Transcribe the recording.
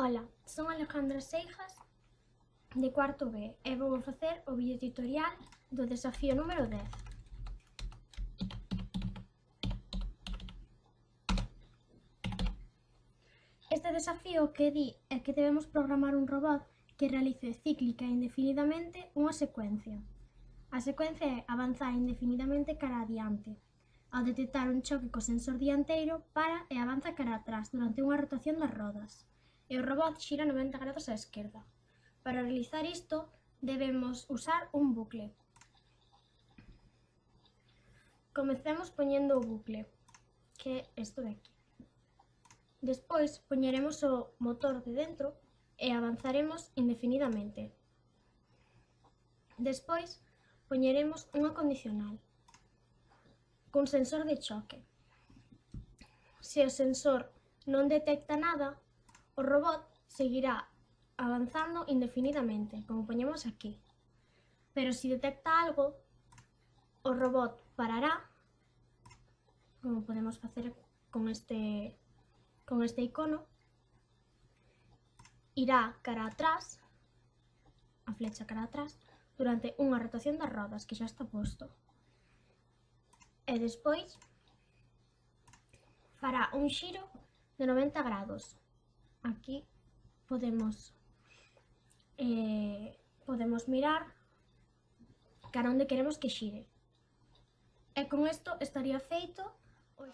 Ola, son Alejandra Seijas de cuarto B e vou facer o vídeo tutorial do desafío número 10. Este desafío o que di é que debemos programar un robot que realice cíclica e indefinidamente unha secuencia. A secuencia é avanzar indefinidamente cara adiante. Ao detectar un choque co sensor dianteiro, para e avanza cara atrás durante unha rotación das rodas. E o robot xira 90 grados á esquerda. Para realizar isto, debemos usar un bucle. Comecemos poñendo o bucle, que é isto de aquí. Despois, poñeremos o motor de dentro e avanzaremos indefinidamente. Despois, poñeremos unha condicional cun sensor de choque. Se o sensor non detecta nada, o robot seguirá avanzando indefinidamente, como poñemos aquí. Pero se detecta algo, o robot parará, como podemos facer con este icono, irá cara atrás, a flecha cara atrás, durante unha rotación das rodas, que xa está posto. E despois fará un xiro de 90 grados. Aquí podemos mirar cara onde queremos que xire. E con isto estaría feito o